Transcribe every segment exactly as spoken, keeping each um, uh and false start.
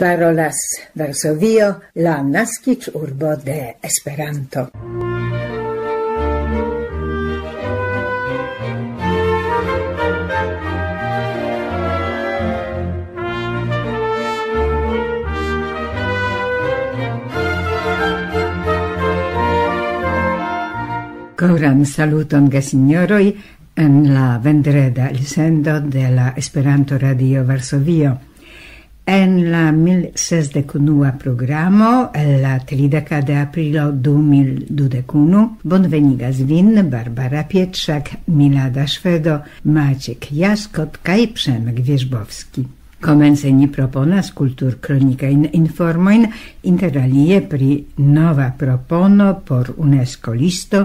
Parolas Varsovio, la naskiĝurbo de Esperanto. Koran saluton, gesinjoroj, en la vendreda elsendo de la Esperanto Radio Varsovio. En la mil sesdek unua programo, el la trideka de aprilo du mil dudek unu, bonvenigas vin Barbara Pietrzak, Milada Szwedo, Maciek Jaskot kaj Przemek Wierzbowski. Komence ni proponas kulturkronikajn informojn, inter alie pri nova propono por UNESCO listo,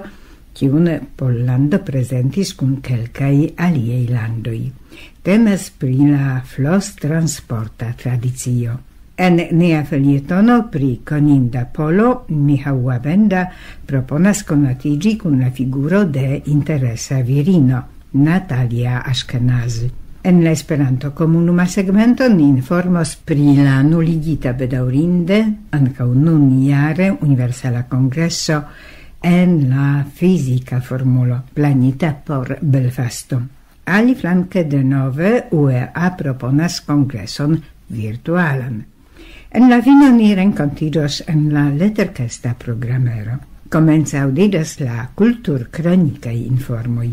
kiun Pollando prezentis kun kelkaj aliaj landoj. Temas pri la flostransporta tradicio. En nia felietono pri koninda polo, Michał Łabęda proponas konatiĝi kun la figuro de interesa virino, Natalia Ashkenazi. En la Esperanto-komunuma segmento ni informos pri la nuligita, bedaŭrinde, ankaŭ nun jare Universala Kongreso en la fizika formulo planita por Belfasto. Aliflanke denove U E A proponas kongreson virtualan. En la fino ni renkontiĝos en la leterkesta programero. Komence aŭdiĝas la kulturkronikaj informoj.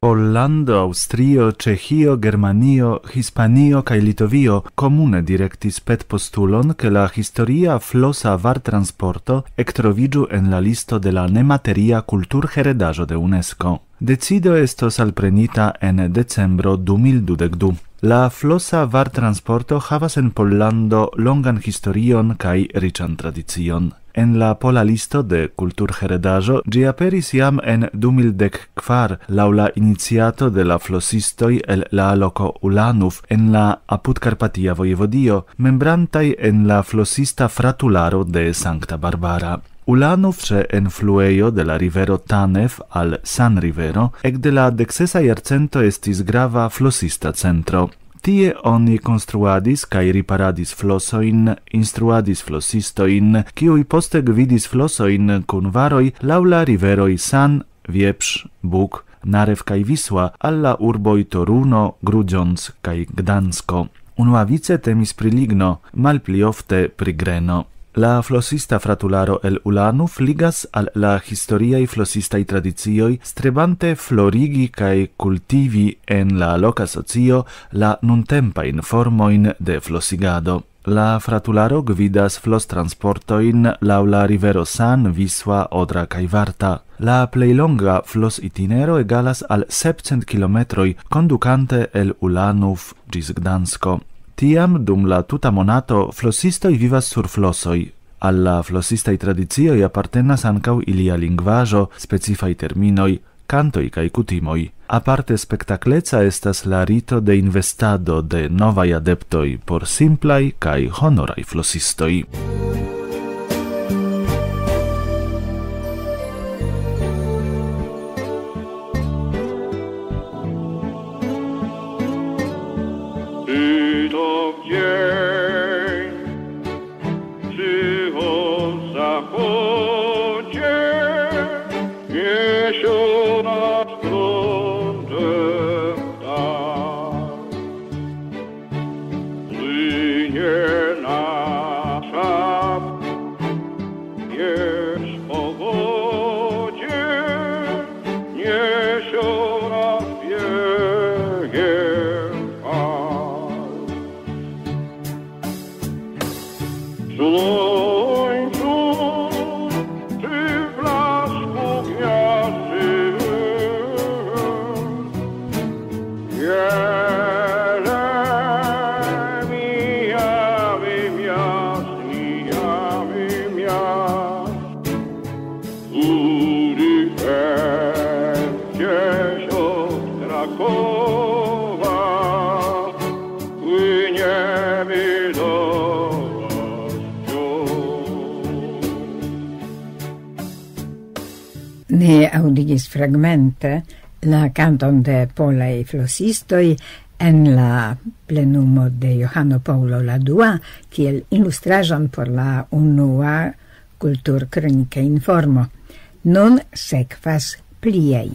Pollando, Aŭstrio, Ĉeĥio, Germanio, Hispanio kaj Litovio komune direktis petpostulon, ke la historia flosa vartransporto ektroviĝu en la listo de la nemateria kulturheredaĵo de UNESCO. Decido estos alprenita en decembro du mil dudek du. La flosa vartransporto havas en Pollando longan historion kaj riĉan tradicion. En la pola listo de kulturheredaĵo ĝi aperis jam en du mil dek kvar laŭ la iniciato de la flosistoj el la loko Ulanuf en la apudkarpatia vojevodio, membrantaj en la flosista fratularo de Sankta Barbara. Ulanuf, ĉe enfluejo de la rivero Tanef al San Rivero, ekde la deksesa jarcento estis grava flosista centro. Tie oni konstruadis kaj riparadis flosojn, instruadis flosistojn, kiuj poste gvidis flosojn kun varoj laŭ la riveroj San, Wieprz, Bug, Narew kaj Wisła al la urboj Toruno, Grudziądz kaj Gdansko. Unuavice temis pri ligno, malpli ofte pri greno. La flosista fratularo el Ulanów ligas al la historiaj flosistaj tradicioj, strebante florigi kaj kultivi en la loka socio la nuntempajn formojn de flosigado. La fratularo gvidas flostransportojn laŭ la rivero San, Wisła, Odra kaj Warta. La plej longa flositinero egalas al sepcent kilometroj, kondukante el Ulanów ĝis Gdansko. Tiam, dum la tuta monato, flosistoj vivas sur flosoj. Al la flosistaj tradicioj apartenas ankaŭ ilia lingvaĵo, specifaj terminoj, kantoj kaj kutimoj. Aparte spektakleca estas la rito de investado de novaj adeptoj por simplaj kaj honoraj flosistoj. Ni aŭdigis fragmente la kanton de polaj flosistoj en la plenumo de Johano Paŭlo la dua, kiel ilustraĵon por la unua kulturkronika informo. Nun sekvas pliaj.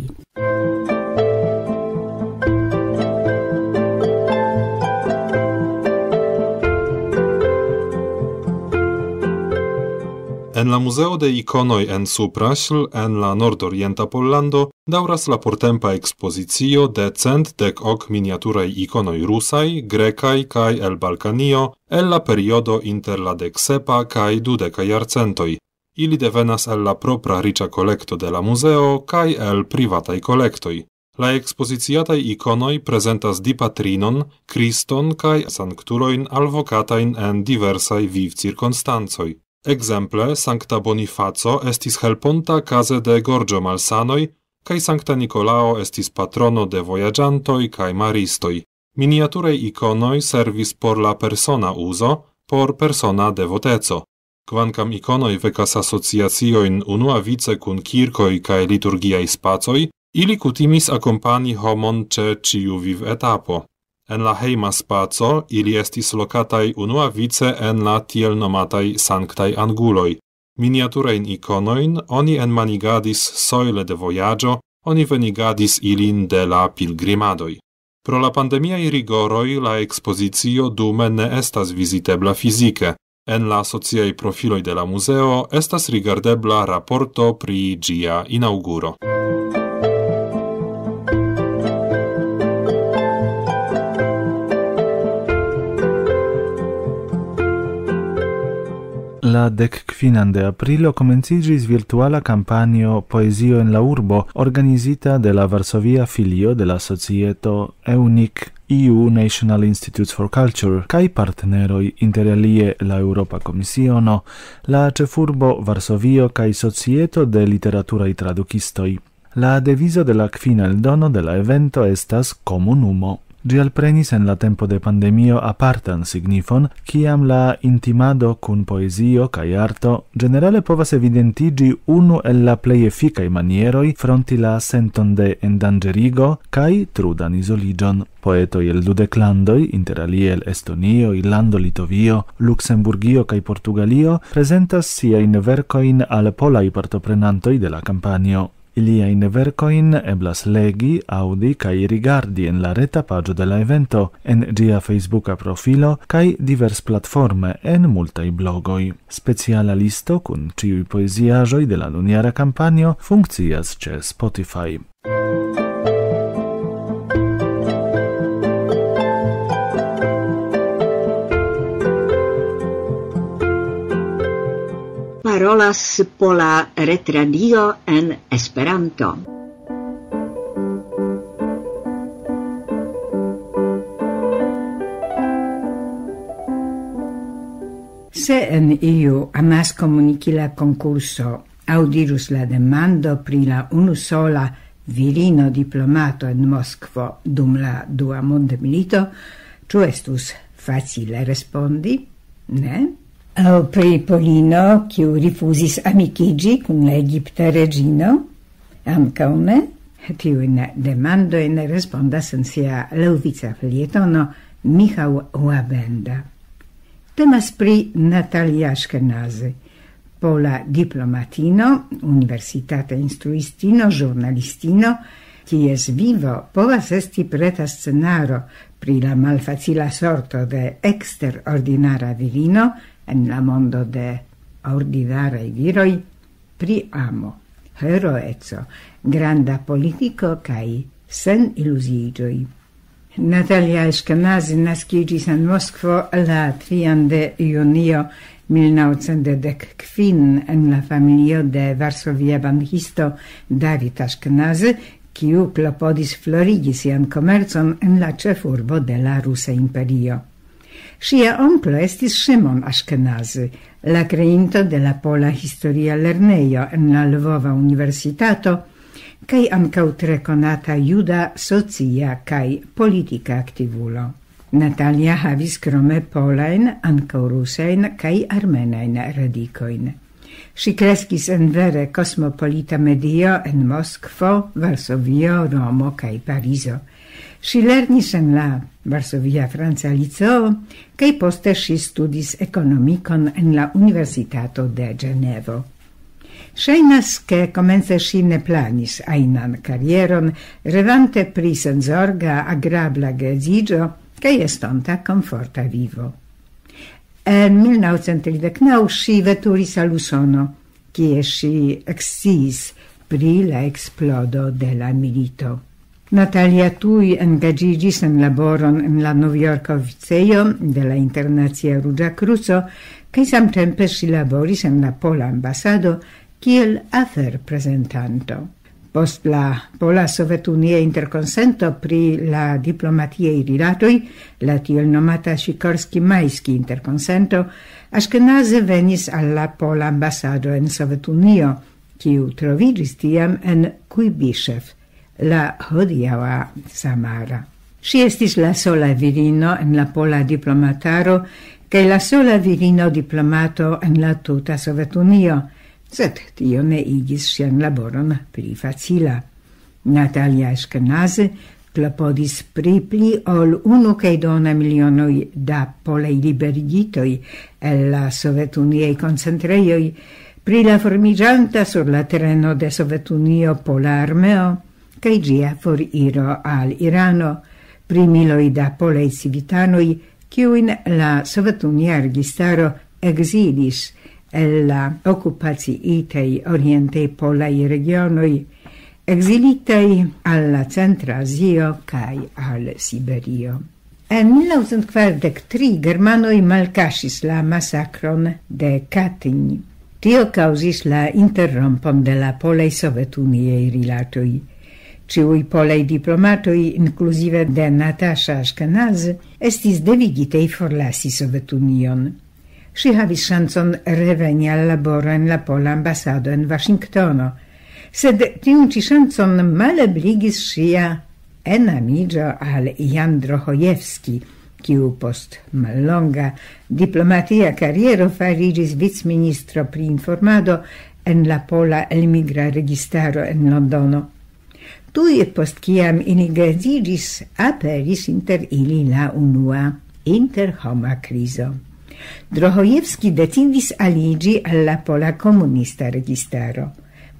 En la Muzeo de Ikonoj en Supraśl, en la nordorienta Pollando, daŭras la portempa ekspozicio de cent dek ok miniaturaj ikonoj rusaj, grekaj kaj el Balkanio, el la periodo inter la deksepa kaj dudeka jarcentoj. Ili devenas el la propra riĉa kolekto de la muzeo kaj el privataj kolektoj. La ekspoziciataj ikonoj prezentas Dipatrinon, Kriston kaj sanktulojn alvokatajn en diversaj vivcirkonstancoj. Ekzemple, Sankta Bonifaco estis helponta kaze de gorĝo-malsanoj, kaj Sankta Nikolao estis patrono de vojaĝantoj kaj maristoj. Miniaturaj ikonoj servis por la persona uzo, por persona devoteco. Kvankam ikonoj vekas asociaciojn unuavice kun kirkoj kaj liturgiaj spacoj, ili kutimis akompani homon ĉe ĉiu vivetapo. En la hejma spaco ili estis lokataj unuavice en la tiel nomataj sanktaj anguloj. Miniaturajn ikonojn oni enmanigadis sojle de vojaĝo, oni venigadis ilin de la pilgrimadoj. Pro la pandemiaj rigoroj la ekspozicio dume ne estas vizitebla fizike. En la sociaj profiloj de la muzeo estas rigardebla raporto pri ĝia inaŭguro. La dek kvinan de aprilo komenciĝis virtuala kampanjo Poezio en la Urbo, organizita de la Varsovia filio de la societo EUNIC, E U National Institutes for Culture, kaj partneroj, inter alie la Eŭropa Komisiono, la ĉefurbo Varsovio kaj Societo de Literaturaj Tradukistoj. La devizo de la kvina eldono de la evento estas komunumo. Ĝi alprenis en la tempo de pandemio apartan signifon, kiam la intimado kun poezio kaj arto ĝenerale povas evidentiĝi unu el la plej efikaj manieroj fronti la senton de endanĝerigo kaj trudan izoliĝon. Poetoj el dudek landoj, inter alie el Estonio, Irlando, Litovio, Luksemburgio kaj Portugalio, prezentas siajn verkojn al polaj partoprenantoj de la kampanjo. Iliajn verkojn eblas legi, aŭdi kaj rigardi en la reta paĝo de la evento, en ĝia Facebooka profilo kaj diversplatforme en multaj blogoj. Speciala listo kun ĉiuj poeziaĵoj de la nunjara kampanjo funkcias ĉe Spotify. Parolas Pola Retradio en Esperanto. Se en iu amaskomunikila konkurso aŭ dirus la demando pri la unusola virino diplomato en Moskvo dum la Dua Mondmilito, ĉu estus facile respondi? Ne? Aŭ pri Polino, kiu rifuzis amikiĝi kun la egipta reĝino? Ankaŭ ne. Tiujn demandojn respondas en sia laŭvica felietono Michał Łabęda. Temas pri Natalia Ashkenazy, pola diplomatino, universitata instruistino, ĵurnalistino, kies vivo povas esti preta scenaro pri la malfacila sorto de eksterordinara virino en la mondo de ordinaraj viroj, pri amo, heroeco, granda politiko kaj sen iluziiĝoj. Natalia Ashkenazy naskiĝis en Moskvo la trian de junio mil naŭcent dek kvin en la familio de varsovia bankisto David Ashkenazy, kiu klopodis florigi sian komercon en la ĉefurbo de la Rusa Imperio. Ŝia onklo estis Ŝimon Ashkenazy, la kreinto de la Pola Historia Lernejo en la Lvova Universitato, kaj ankaŭ tre konata juda socia kaj politika aktivulo. Natalia havis krome polajn, ankaŭ rusajn kaj armenajn radikojn. Ŝi kreskis en vere kosmopolita medio en Moskvo, Varsovio, Romo kaj Parizo. Ŝi lernis en la Varsovia Franca Liceo kaj poste ŝi studis ekonomikon en la Universitato de Ĝenevo. Ŝajnas, ke komence ŝi ne planis ajnan karieron, revante pri senzorga, agrabla geedziĝo kaj estonta komforta vivo. En mil naŭcent tridek naŭ ŝi veturis al Usono, kie ŝi eksciis pri la eksplodo de la milito. Natalia tuj engaĝiĝis en laboron en la Novjorka oficejo de la Internacia Ruĝa Kruco, kaj samtempe ŝi laboris en la pola ambasado kiel aferprezentanto. Post la Pola Sovetunia interkonsento pri la diplomatiaj rilatoj, la tiel nomata Sikorski-Majski interkonsento, Aŝkenaze venis al la pola ambasado en Sovetunio, kiu troviĝis tiam en Kujbiŝev, la hodiaŭa Samara. Ŝi estis la sola virino en la pola diplomataro kaj la sola virino diplomato en la tuta Sovetunio, sed tio ne igis ŝian laboron pli facila. Natalia Aŝkenaze klopodis pri pli ol unu kaj duona milionoj da polaj liberigitoj el la sovetuniaj koncentrejoj, pri la formiĝanta sur la tereno de Sovetunio pola armeo kaj ĝia foriro al Irano, pri miloj da polaj civitanoj, kiujn la sovetunia registaro ekzilis el la okupaciitaj orientaj polaj regionoj, ekzilitaj al la Centra Azio kaj al Siberio. En mil naŭcent kvardek tri germanoj malkaŝis la masakron de Katyn. Tio kaŭzis la interrompon de la polaj sovetuniaj rilatoj. Ĉiuj polaj diplomatoj, inkluzive de Natasha Ashkenaz, estis devigitej forlasi Sovetunion. Ŝi havis ŝancon reveni al laboro en la pola ambasado en Vaŝingtono, sed tiun ĉi ŝancon malebligis ŝia enamiĝo al Jan Drohojevski, kiu post mallonga diplomatia kariero fariĝis vicministro pri informado en la pola elmigra registaro en Londono. Tuj post kiam ili geedziĝis, aperis inter ili la unua interhoma krizo. Drohojevski decidis aliĝi al la pola komunista registaro.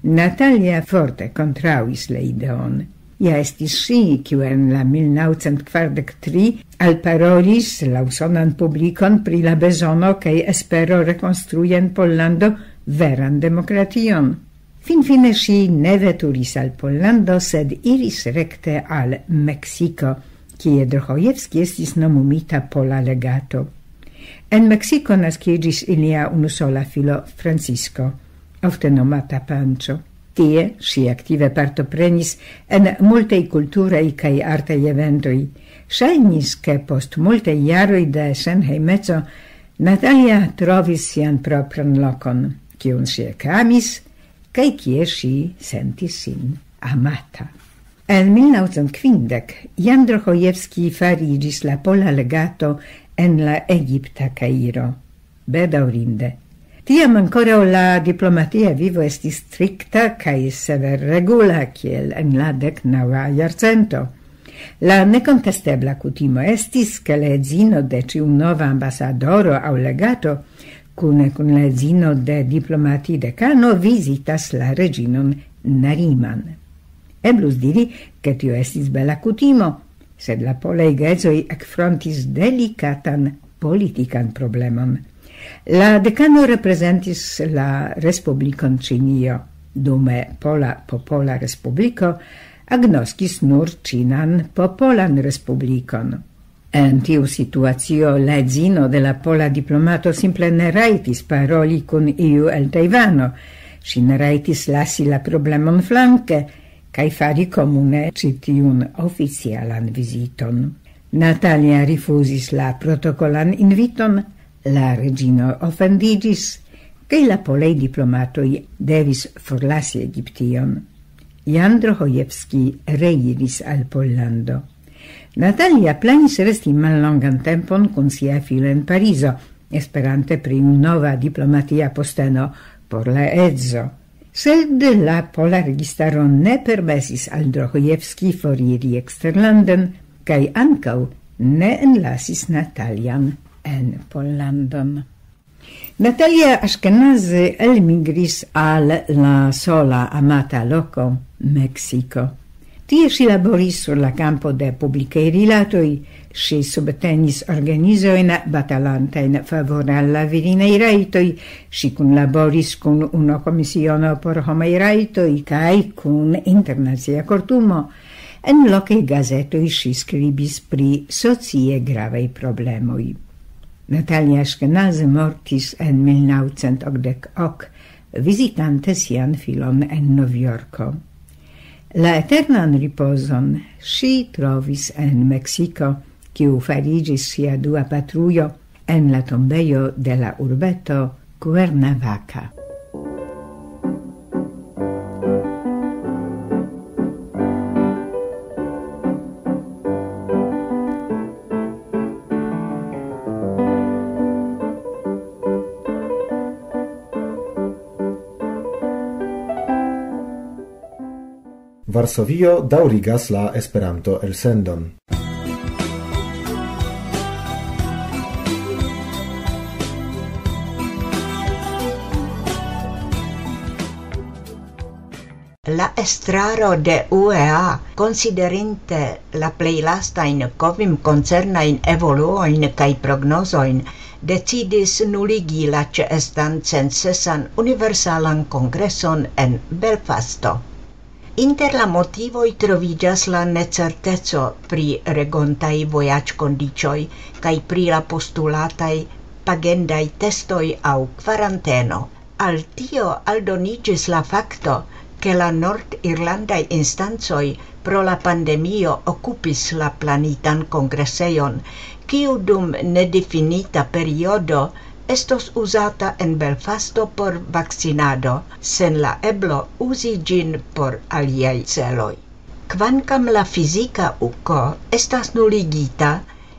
Natalia forte kontraŭis la ideon. Ja estis ŝi, kiu en la mil naŭcent kvardek tri alparolis la usonan publikon pri la bezono kaj espero rekonstrui en Pollando veran demokration. Finfine ŝi ne veturis al Pollando, sed iris rekte al Meksiko, kie Drohojevski estis nomumita pola legato. En Meksiko naskiĝis ilia unusola filo Francisco, ofte nomata Pancho. Tie ŝi aktive partoprenis en multaj kulturaj kaj artaj eventoj. Ŝajnis, ke post multaj jaroj de senhejmeco Natalia trovis sian propran lokon, kiun ŝi ekamis, kaj kie ŝi sentis sin amata. En mil naŭcent kvindek Jan Drohojevski fariĝis la pola legato en la egipta Kairo. Bedaŭrinde. Tiam ankoraŭ la diplomatia vivo estis strikta kaj severregula kiel en la deknaŭa jarcento. La nekontestebla kutimo estis, ke la edzino de ĉiu nova ambasadoro aŭ legato, kune kun la edzino de diplomatidekano, vizitas la reĝinon Nariman. Eblus diri, ke tio estis bela kutimo, sed la polaj geedzoj ekfrontis delikatan politikan problemon. La dekano reprezentis la Respublikon Ĉinio, dume Pola Popola Respubliko agnoskis nur Ĉinan Popolan Respublikon. En tiu situacio la edzino de la pola diplomato simple ne rajtis paroli kun iu el Tajvano. Ŝi ne rajtis lasi la problemon flanke kaj fari komune ĉi tiun oficialan viziton. Natalia rifuzis la protokolan inviton, la reĝino ofendiĝis, kaj la polaj diplomatoj devis forlasi Egiption. Jan Drohojevski reiris al Pollando. Natalia planis resti mallongan tempon kun sia filo en Parizo, esperante pri nova diplomatia posteno por la edzo. Sed la pola registaro ne permesis al Drohojevski foriri eksterlanden, kaj ankaŭ ne enlasis Natalian en Pollandon. Natalia Ashkenazi elmigris al la sola amata loko, Meksiko. Tie ŝi laboris sur la kampo de publikaj rilatoj, ŝi subtenis organizojn batalantajn favore al la virinaj rajtoj, ŝi kunlaboris kun UNO-Komisiono por Homaj Rajtoj kaj kun Internacia Kortumo. En lokaj gazetoj ŝi skribis pri socie gravaj problemoj. Natalia Ashkenazi mortis en mil naŭcent okdek ok, vizitante sian filon en Novjorko. La eternan ripozon ŝi trovis en Meksiko, kiu fariĝis ŝia dua patrujo, en la tombejo de la urbeto Cuernavaca. Varsovio daŭrigas la Esperanto-elsendon. La estraro de U E A, konsiderinte la plej lastajn kovim koncernajn evoluojn kaj prognozojn, decidis nuligi la ĉeestan censesan universalan kongreson en Belfasto. Inter la motivoj troviĝas la necerteco pri regontaj vojaĝkondiĉoj kaj pri la postulataj pagendaj testoj aŭ kvaranteno. Al tio aldoniĝis la fakto, ke la nord-irlandaj instancoj pro la pandemio okupis la planitan kongresejon, kiu dum nedifinita periodo estos uzata en Belfasto por vakcinado, sen la eblo uzi ĝin por aliaj celoj. Kvankam la fizika uko estas nuligita,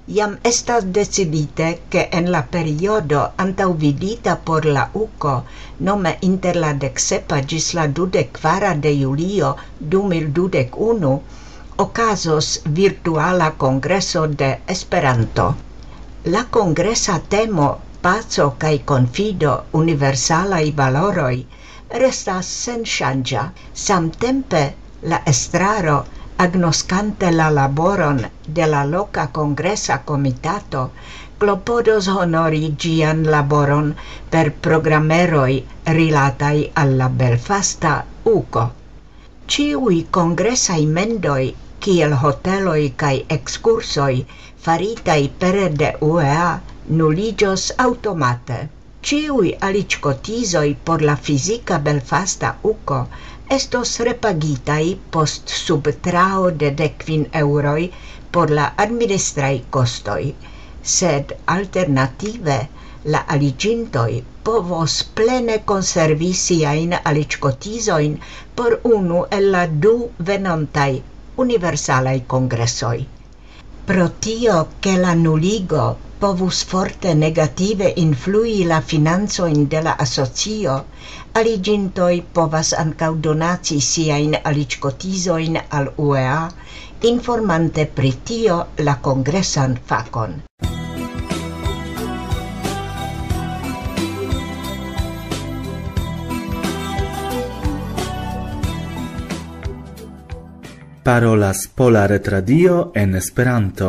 jam estas decidite, ke en la periodo antaŭvidita por la uko, nome inter la dek sepa ĝis la dudek kvara de julio du mil dudek unu, okazos virtuala kongreso de Esperanto. La kongresa temo "Paco kaj konfido, universalaj valoroj" restas senŝanĝa. Samtempe la estraro, agnoskante la laboron de la loka kongresa komitato, klopodos honori ĝian laboron per programeroj rilataj al la belfasta uko. Ĉiuj kongresaj mendoj, kiel hoteloj kaj ekskursoj, faritaj pere de U E A, nuliĝos aŭtomate. Ĉiuj aliĝkotizoj por la fizika belfasta uko estos repagitaj post subtrao de dek kvin eŭroj por la administraj kostoj, sed alternative la aliĝintoj povos plene konservi siajn aliĝkotizojn por unu el la du venontaj universalaj kongresoj. Pro tio, ke la nuligo povus forte negative influi la financojn de la asocio, aliĝintoj povas ankaŭ donaci siajn aliĝkotizojn al U E A, informante pri tio la kongresan fakon. Parolas Pola Retradio en Esperanto.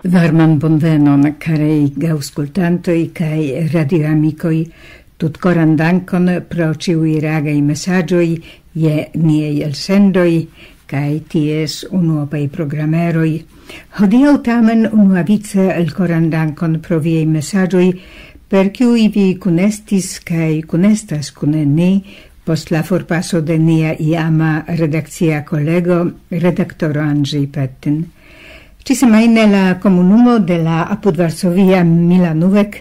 Varman bonvenon, karaj aŭskultantoj kaj radioamikoj. Tutkoran dankon pro ĉiuj reagaj mesaĝoj je niaj elsendoj kaj ties unuopaj programeroj. Hodiaŭ tamen unuavice elkoran dankon pro viaj mesaĝoj, per kiuj vi kunestis kaj kunestas kun ni post la forpaso de nia iama redakcia kolego, redaktoro Andrzej Petin. Ĉisemajne la komunumo de la apud Varsovia Milanuvek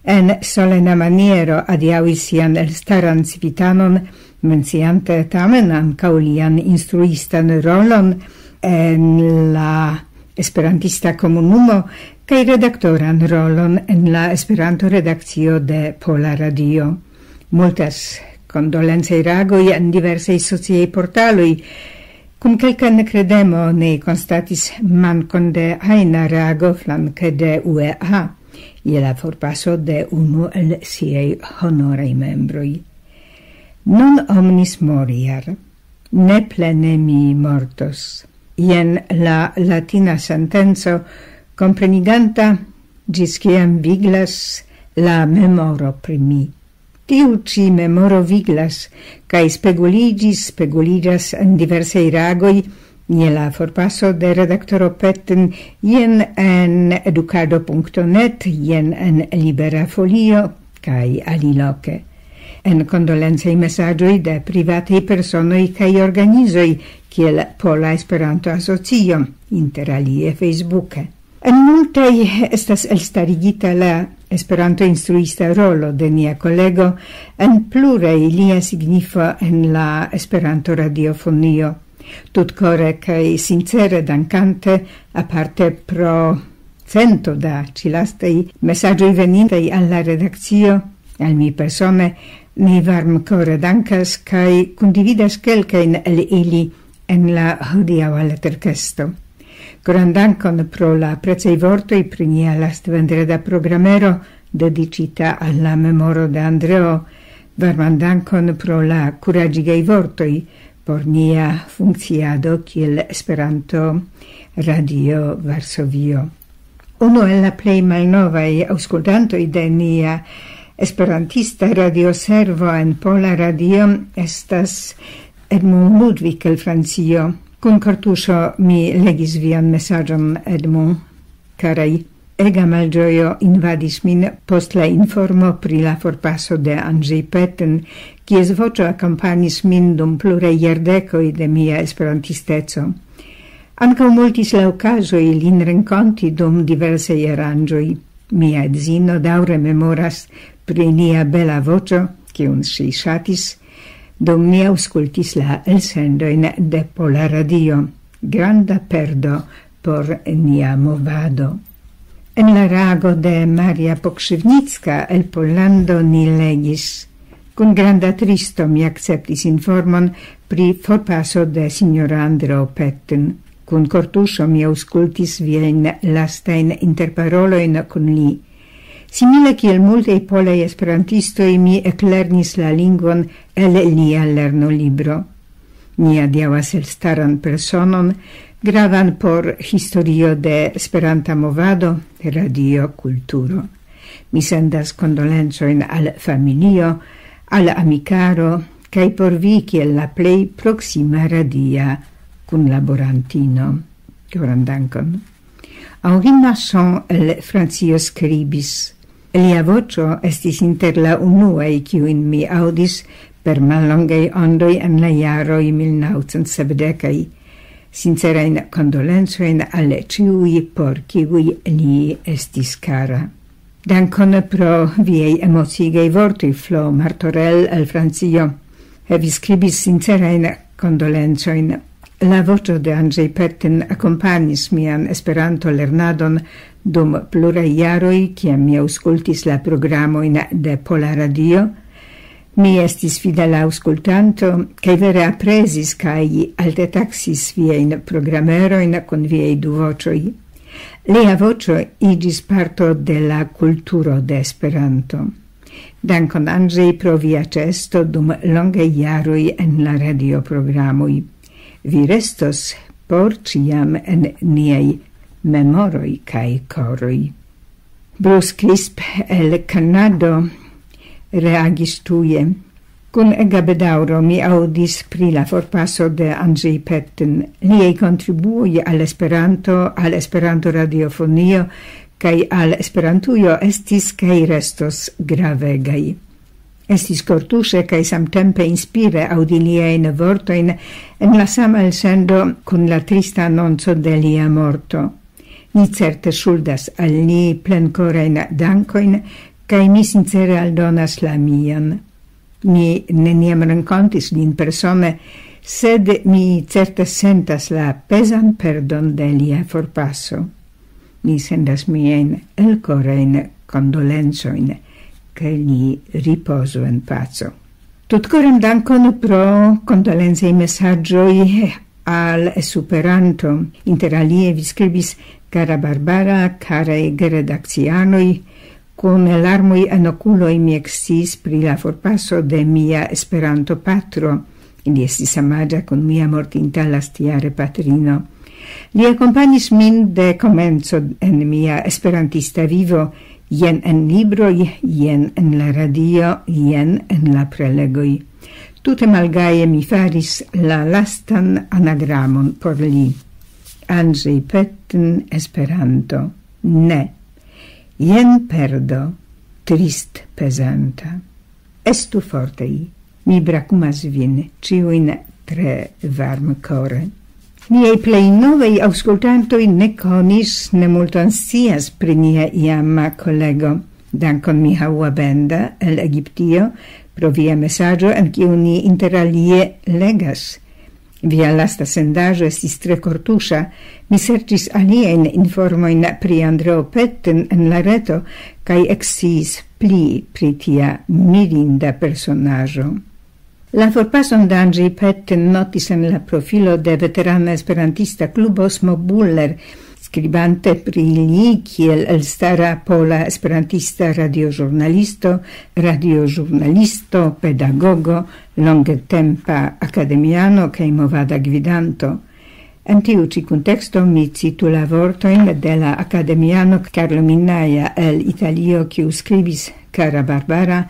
en solena maniero adiaŭis sian elstaran civitanon, menciante tamen ankaŭ lian instruistan rolon en la esperantista komunumo kaj redaktoran rolon en la Esperanto-redakcio de Pola Radio. Multas kondolencaj reagoj en diversaj sociaj portaloj. Kun kelka nekredemo ni konstatis mankon de ajna reago flanke de U E A je la forpaso de unu el siaj honoraj membroj. Non omnis moriar, ne plene mi mortos. Jen la latina sentenco, kompreniganta ĝis kiam viglas la memoro pri mi. Tiu ĉi memoro viglas, kaj speguliĝis, speguliĝas en diversaj reagoj je la forpaso de redaktoro Petten, jen en edukado punkto net, jen en Libera Folio, kaj aliloke. En kondolencaj mesaĝoj de privataj personoj kaj organizoj, kiel Pola Esperanto-Asocio, inter alie Facebooke. En multaj estas elstarigita la Esperanto-instruista rolo de nia kolego, en pluraj lia signifo en la Esperanto-radiofonio. Tutkore kaj sincere dankante, aparte pro cento da ĉilastaj mesaĝoj venintaj al la redakcio, al mi persone, ni varmkore dankas kaj kundividas kelkajn el ili en la hodiaŭa leterkesto. Koran dankon pro la precaj vortoj pri nia lastvendreda programero dediĉita al la memoro de Andreo. Varman dankon pro la kuraĝigaj vortoj por nia funkciado kiel Esperanto Radio Varsovio. Unu el la plej malnovaj aŭskultantoj de nia esperantista radioservo en Pola Radio estas Edmond Ludwig el Francio. Kun kortuŝo mi legis vian mesaĝon, Edmond. Karaj, ega malĝojo invadis min post la informo pri la forpaso de Andrzej Petten, kies voĉo akompanis min dum pluraj jardekoj de mia esperantisteco. Ankaŭ multis la okazoj lin renkonti dum diversaj aranĝoj. Mia edzino daŭre memoras pri lia bela voĉo, kiun ŝi ŝatis, dum ni aŭskultis la elsendojn de Pola Radio. Granda perdo por nia movado. En la reago de Maria Pokrzywnicka el Pollando ni legis: Kun granda tristo mi akceptis informon pri forpaso de sinjoro Andreo Petten. Kun kortuŝo mi aŭskultis viajn lastajn interparolojn kun li. Simile kiel multaj polaj esperantistoj, mi eklernis la lingvon el lia lernolibro. Ni adiaŭas elstaran personon, gravan por historio de Esperanta movado, radio, kulturo. Mi sendas kondolencojn al familio, al amikaro, kaj por vi kiel la plej proksima radia kunlaborantino. Koran dankon. Henri Masson el Francio skribis: Lia voĉo estis inter la unuaj, kiujn mi aŭdis per mallongaj ondoj en la jaroj mil naŭcent sepdekaj. Sincerajn kondolencojn al ĉiuj, por kiuj li estis kara. Dankon pro viaj emociigaj vortoj, Flo Martorell el Francio. Vi skribis sincerajn kondolencojn. La voĉo de Andrzej Petten akompanis mian Esperanto-lernadon dum pluraj jaroj, kiam mi aŭskultis la programojn de Pola Radio. Mi estis fidela aŭskultanto, kaj vere aprezis kaj alte taksis viajn programerojn kun viaj du voĉoj. Lia voĉo iĝis parto de la kulturo de Esperanto. Dankon, Andrzej, pro via ĉeesto dum longaj jaroj en la radioprogramoj. Vi restos por ĉiam en niaj memoroj kaj koroj. Bruce Crisp el Kanado reagis tuje: Kun ega bedaŭro mi aŭdis pri la forpaso de Andrzej Petten. Liaj kontribuoj al Esperanto, al Esperanto-radiofonio kaj al Esperantujo estis kaj restos gravegaj. Estis kortuŝe kaj samtempe inspire aŭdi liajn vortojn en la sama elsendo kun la trista anonco de lia morto. Ni certe ŝuldas al ni plenkorajn dankojn, kaj mi sincere aldonas la mian. Mi neniam renkontis lin persone, Sed mi certe sentas la pezan perdon de lia forpaso. Mi sendas miajn elkorajn kondolencojn, ke li ripozu en paco. Tutkoran dankon pro kondolencaj mesaĝoj al Esperanto. Inter alie vi skribis: "Kara Barbara, karaj geredakcianoj, kun larmoj en okuloj mi eksciis pri la forpaso de mia Esperanto-patro. Li estis samaĝa kun mia mortinta lastjare patrino. Li akompanis min de komenco en mia esperantista vivo, jen en libroj, jen en la radio, jen en la prelegoj. Tute malgaje mi faris la lastan anagramon por li. Andrzej Petten, Esperanto. Ne. Jen perdo, trist pezanta. Estu fortej. Mi brakumas vin ĉiujn tre varmkore." Niaj plej novaj aŭskultantoj ne konis, ne multon scias pri nia iama kolego. Dankon Michał Łabęda el Egiptio pro via mesaĝo, en kiu ni inter alie legas: "Via lasta sendaĵo estis tre kortuŝa. Mi serĉis aliajn informojn pri Andreo Petten en la reto, kaj eksciis pli pri tia mirinda personaĵo." La forpason de Andrzej Petten notis en la profilo de veterana esperantista klubo Osmo Buller, skribante pri li kiel elstara pola esperantista radioĵurnalisto, radioĵurnalisto, pedagogo, longetempa akademiano kaj movada gvidanto. En tiu ĉi kunteksto mi citu la vortojn de la akademiano Carlo Minnaia el Italio, kiu skribis: "Kara Barbara,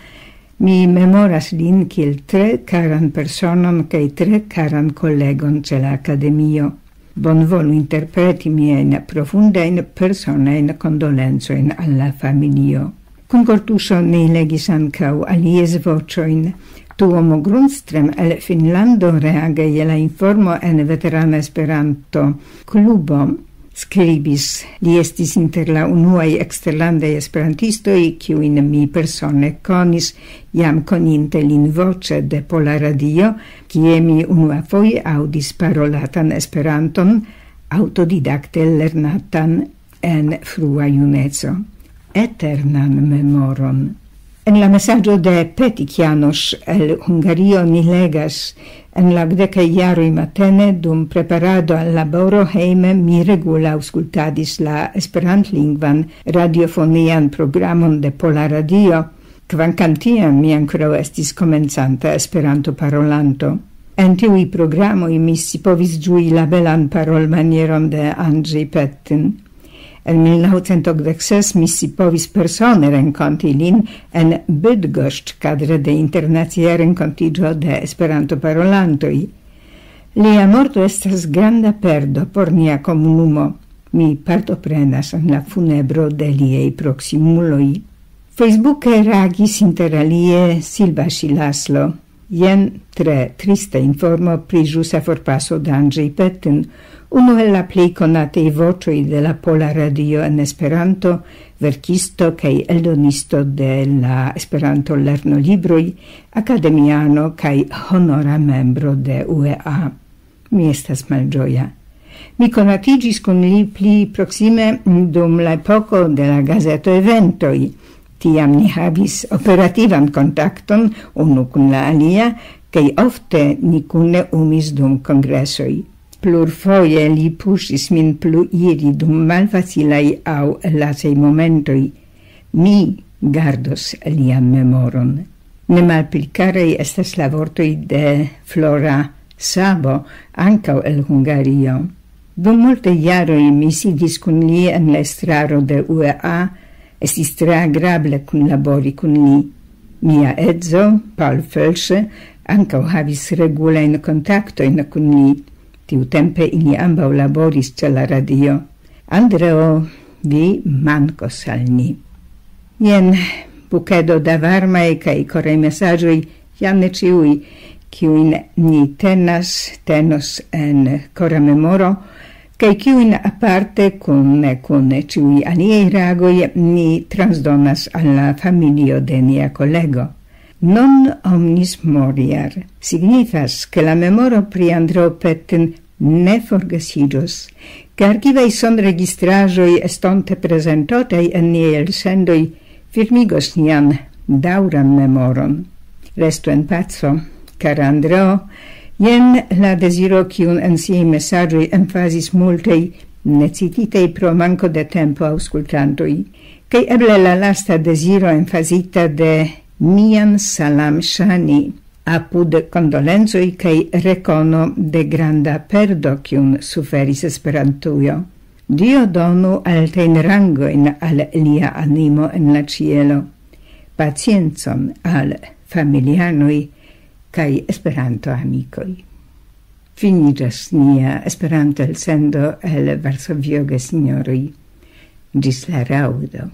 mi memoras lin kiel tre karan personon kaj tre karan kolegon ĉe la akademio. Bonvolu interpreti miajn profundajn personajn kondolencojn al la familio." Kun kortuŝo ni legis ankaŭ alies voĉojn. Tuomo Grundström el Finnlando, reage je la informo en veterana Esperanto klubo, skribis: "Li estis inter la unuaj eksterlandaj esperantistoj, kiujn mi persone konis, jam koninte lin voĉe de Pola Radio, kie mi unuafoje aŭdis parolatan Esperanton, aŭtodidakte lernatan en frua juneco." Eternan memoron. En la mesaĝo de Petik Janosz el Hungario ni legas: "En la dudekaj jaroj matene, dum preparado al laboro hejme, mi regule aŭskultadis la esperantlingvan radiofonian programon de Pola Radio, kvankam tiam mi ankoraŭ estis komencanta Esperanto-parolanto. En tiuj programoj mi scipovis ĝui la belan parolmanieron de Andrzej Petten. En mil naŭcent okdek ses mi scipovis persone renkonti lin en Bydgoszcz kadre de internacia renkontiĝo de Esperanto-parolantoj. Lia morto estas granda perdo por nia komunumo. Mi partoprenas en la funebro de liaj proksimuloj." Facebooke reagis inter alie Silva Ŝilaslo. "Jen tre trista informo pri ĵusa forpaso de Andrzej Petten, unu el la plej konataj voĉoj de la Pola Radio en Esperanto, verkisto kaj eldonisto de la Esperanto-lernolibroj, akademiano kaj honora membro de U E A. Mi estas malĝoja. Mi konatiĝis kun li pli proksime dum la epoko de la gazeto-eventoj. Tiam ni havis operativan kontakton unu kun la alia, kaj ofte ni kune umis dum kongresoj. Plurfoje li puŝis min plu iri dum malfacilaj aŭ lasaj momentoj. Mi gardos lian memoron." Ne malpli karaj estas la vortoj de Flora Sabo, ankaŭ el Hungario. "Dum multe jaroj mi sidis kun li en la estraro de U E A, estis tre agrable kunlabori kun li. Mia edzo, Paul Felsche, ankaŭ havis regulajn kontaktojn kun li. Tiutempe ili ambaŭ laboris ĉe la radio. Andreo, vi mankos al ni." Jen bukedo da varmaj kaj koraj mesaĝoj, jam ne ĉiuj, kiujn ni tenas, tenos en kora memoro, kaj kiujn aparte kun, kun ĉiuj aliaj reagoj ni transdonas al la familio de nia kolego. Non omnis moriar signifas, ke la memoro pri Andreo Petten ne forgesiĝos, ke arkivaj sonregistraĵoj estonte prezentotaj en niaj elsendoj firmigos nian daŭran memoron. Restu en paco, kara Andreo, jen la deziro, kiun en siaj mesaĝoj emfazis multaj necititaj pro manko de tempo aŭskultantoj, kaj eble la lasta deziro emfazita de Mian Salam Shani, apud kondolencoj kaj rekono de granda perdo, kiun suferis Esperantujo. Dio donu altajn rangojn al lia animo en la ĉielo, paciencon al familianoj kaj Esperanto-amikoj. Finiĝas nia Esperanto-elsendo el Varsovio, gesinjoroj. Ĝis la raŭdo.